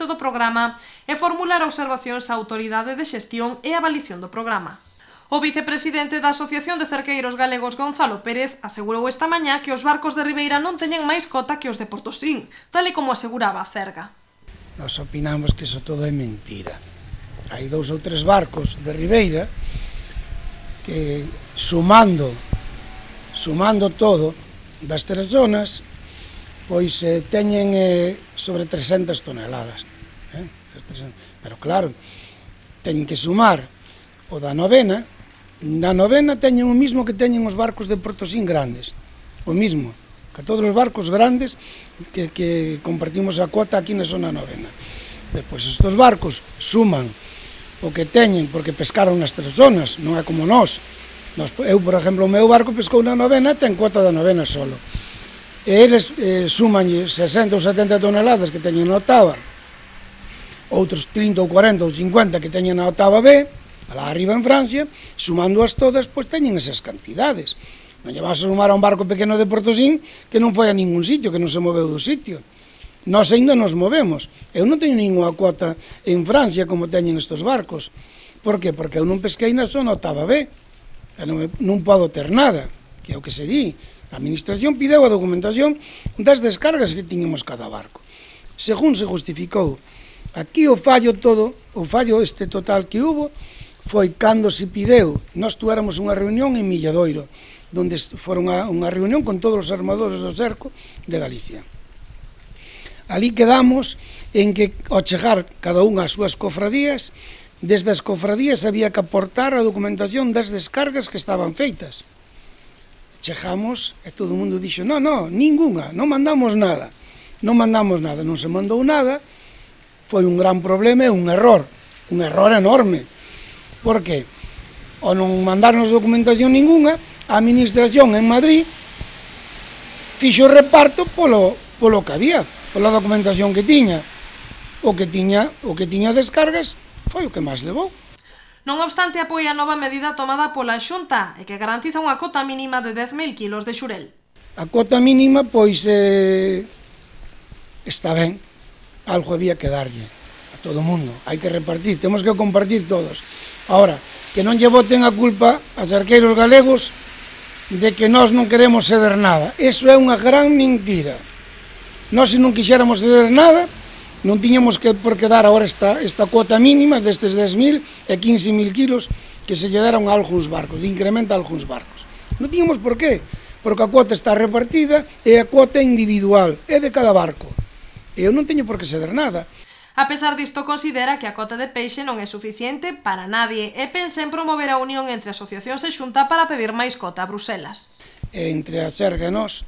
cumprimento do programa e formular observacións á autoridade de xestión e avaliación do programa. O vicepresidente da Asociación de Cerqueiros Galegos, Gonzalo Pérez, asegurou esta mañá que os barcos de Ribeira non teñen máis cota que os de Portosín, tal e como aseguraba a Cerga. Nós opinamos que iso todo é mentira. Hai 2 ou 3 barcos de Ribeira que sumando todo das 3 zonas, pois teñen sobre 300 toneladas. Pero claro, teñen que sumar o da novena. Na novena teñen o mismo que teñen os barcos de Portosín grandes, o mismo, que todos os barcos grandes que compartimos a cuota aquí na zona novena. Depois estes barcos suman o que teñen, porque pescaron nas 3 zonas, non é como nós. Eu, por exemplo, o meu barco pescou na novena, ten cuota da novena solo. E eles suman 60 ou 70 toneladas que teñen na octava, outros 30 ou 40 ou 50 que teñen na octava B, alá arriba en Francia, sumándoas todas, pois teñen esas cantidades. Non lle vas a sumar a un barco pequeno de Portosín que non foi a ningún sitio, que non se moveu do sitio. Nós ainda nos movemos. Eu non teño ninguna cuota en Francia como teñen estes barcos. Por que? Porque eu non pesquei na zona octava B. Non podo ter nada, que é o que se di. A administración pideu a documentación das descargas que tiñemos cada barco. Según se justificou, aquí o fallo este total que hubo, foi cando se pideu, nós tuéramos unha reunión en Milladoiro, onde foron unha reunión con todos os armadores do cerco de Galicia. Ali quedamos en que, ao chegar cada unha ás súas cofradías, desde as cofradías había que aportar a documentación das descargas que estaban feitas. Chegamos e todo o mundo dixo, non, ninguna, non mandamos nada. Non se mandou nada, foi un gran problema e un error enorme. Por que? Ao non mandarnos documentación ninguna, a administración en Madrid fixo o reparto polo que había, pola documentación que tiña. O que tiña descargas foi o que máis levou. Non obstante, apoia a nova medida tomada pola Xunta e que garantiza unha cota mínima de 10.000 kilos de xurel. A cota mínima, pois, está ben, algo había que darlle a todo o mundo, hai que repartir, temos que compartir todos. Ahora, que non lle boten a culpa a cerqueiros galegos de que nós non queremos ceder nada. Eso é unha gran mentira. Nós, se non quixéramos ceder nada, non tiñamos por que dar agora esta cuota mínima destes 10.000 e 15.000 kilos que se lle deron a algúns barcos, de incremento a algúns barcos. Non tiñamos por qué, porque a cuota está repartida e a cuota é individual, é de cada barco. E eu non teño por que ceder nada. A pesar disto, considera que a cota de peixe non é suficiente para nadie e pensa en promover a unión entre asociacións e Xunta para pedir máis cota a Bruselas. Entre a Cerga e nós,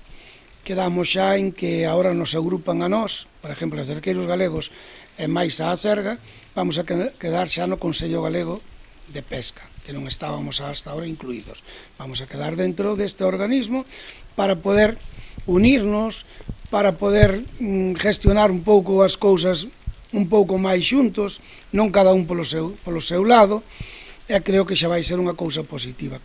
quedamos xa en que agora nos agrupan a nós, por exemplo, a Cerqueiros Galegos e máis a Cerga, vamos a quedar xa no Consello Galego de Pesca, que non estábamos hasta ahora incluídos. Vamos a quedar dentro deste organismo para poder unirnos, para poder gestionar un pouco as cousas un pouco máis xuntos, non cada un polo seu lado, e creo que xa vai ser unha cousa positiva.